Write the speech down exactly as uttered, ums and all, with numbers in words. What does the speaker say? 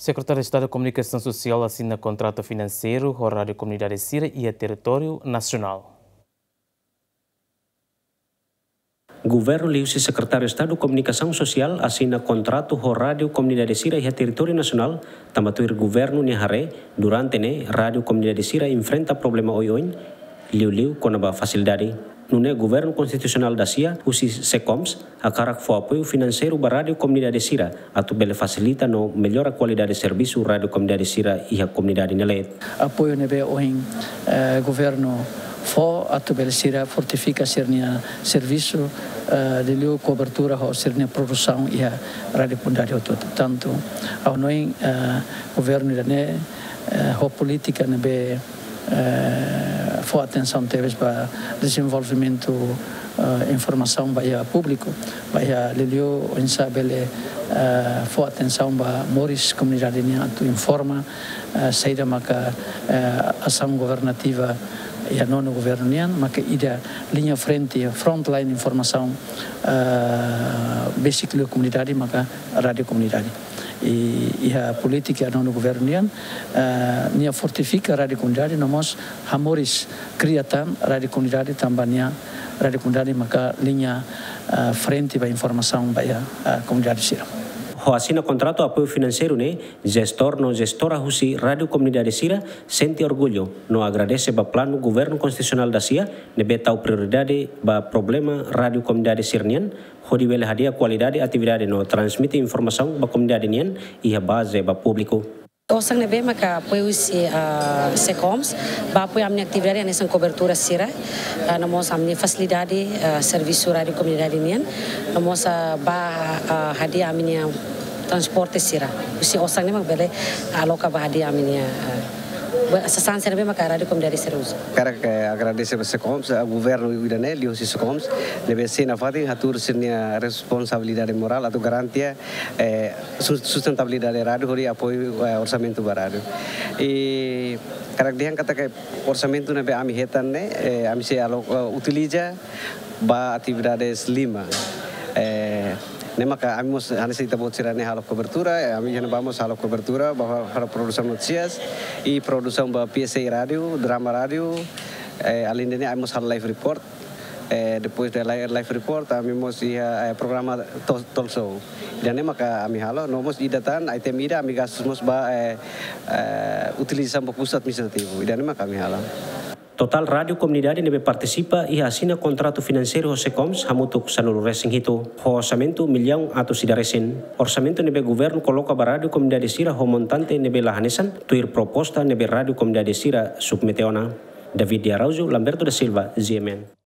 Sekretáriu Estadu Komunikasaun Sosiál asina kontratu finanseiru ho rádiu komunidade sira iha territóriu nasionál. Governu liuhusi Sekretáriu Estadu Komunikasaun Sosiál asina kontratu ho rádiu komunidade sira iha territóriu nasionál, tanba tuir governu nia haree, durante ne'e rádiu komunidade sira enfrenta problema oioin, liuliu kona-ba fasilidade. Nune'e governu konstitusionál dasia husi SECOMS hakarak fó apoiu finanseiru ba rádiu komunidade sira atu bele fasilita no mellora kualidade servisu rádiu komunidade sira iha komunidade nia leet. Apoiu ne'ebé ohin, eh, governu fó atu bele sira fortifika sira-nia servisu, eh, liuliu kobertura ho sira-nia produsaun iha rádiu komunidade hotu-hotu. Tantu ha'u hanoin, eh, governu ida-ne'e, eh, ho polítika ne'ebé, eh, fó atensaun tebes ba dezenvolvimentu, eh, informasaun ba iha públiku, ba iha liuliu oinsá bele, eh, fó atensaun ba moris komunidade nian atu informa, eh, saida maka, eh, asaun governativa iha nonu governu nian, maka ida liña frente, frontline informasaun, eh, besik liu komunidade maka rádiu komunidade. I iha polítika nonu governu nian, eh, nia fortifika rádiu komunidade, no mós hamoris kria tan rádiu komunidade tanba nia rádiu komunidade maka liña, eh, frente ba informasaun ba iha, eh, komunidade sira. Ho asina kontratu apoiu finanseiru ne'e, jestór no jestora husi rádiu komunidade sira sente orgullu no agradese ba planu governu konstitusionál dasia ne'ebé tau prioridade ba problema rádiu komunidade sira-nian, hodi bele hadi'a kualidade atividade no transmite informasaun ba komunidade nian iha baze ba públiku. Osan ne'ebé maka apoiu husi, ah, SECOMS, ba apoiu ami-nia atividade hanesan kobertura sira, ah, no mós ami-nia fasilidade, ah, servisu rádiu komunidade nian, no mós, ah, ba, ah, hadi'a ami-nia transporte sira. Husi osan ne'e mak bele aloka ba hadi'a ami-nia, ah, ba sasán sira ne'ebé maka rádiu komunidade sira uza. Hakarak, eh, agradese ba SECOMS, ah, governu ida-ne'e, liuhusi SECOMS, ne'ebé sei nafatin hatuur sira-nia responsabilidade morál atu garantia, eh, sus-, sustentabilidade rádiu, hodi apoiu, eh, orsamentu ba rádiu. I hakarak dehan katak orsamentu ne'ebé ami hetan ne'e, eh, ami sei alo-, eh, utiliza ba atividades lima. Eh, ne'e maka ami mós hanesan ita-boot sira-ne'e halo kobertura, eh, ami iha ne'ebá mós halo kobertura, ba halo produsaun notísias, i produsaun ba P S A rádiu, drama rádiu, eh, além de ne'e ami mós halo live report. Eh, depois de li-, live report, ami mós iha, eh, programa to-, talk show. Ida-ne'e maka ami halo, no mós ida tan, item ida ami gastu mós ba, eh, eh, utilizasaun ba kustu administrativu. Ida-ne'e maka ami halo. Totál rádiu komunidade ne'ebé partisipa iha asina kontratu finanseiru ho SECOMS hamutuk sanulu-resin-hitu, ho orsamentu millaun atus ida resin. Orsamentu ne'ebé governu koloka ba rádiu komunidade sira ho montante ne'ebé la hanesan, tuir proposta ne'ebé rádiu komunidade sira submete ona. David de Araújo, Lamberto da Silva, G M N.